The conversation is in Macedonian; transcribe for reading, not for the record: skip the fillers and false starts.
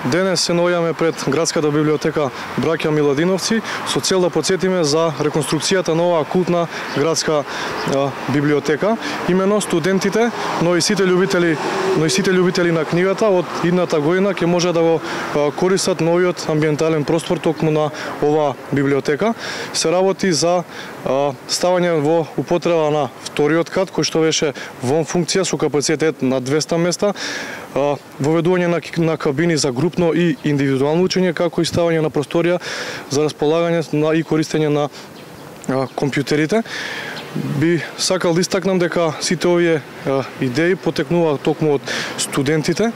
Денес се наоѓаме пред градската библиотека Браќа Миладиновци со цел да потсетиме за реконструкцијата на оваа култна градска библиотека. Имено студентите, но и сите љубители на книгата од идната година ќе може да го користат новиот амбиентален простор токму на оваа библиотека. Се работи за ставање во употреба на вториот кат, кој што беше во функција со капацитет на 200 места, воведување на кабини за групно и индивидуално учење, како и ставање на просторија за располагање и користење на компјутерите. Би сакал да истакнам дека сите овие идеи потекнуваат токму од студентите,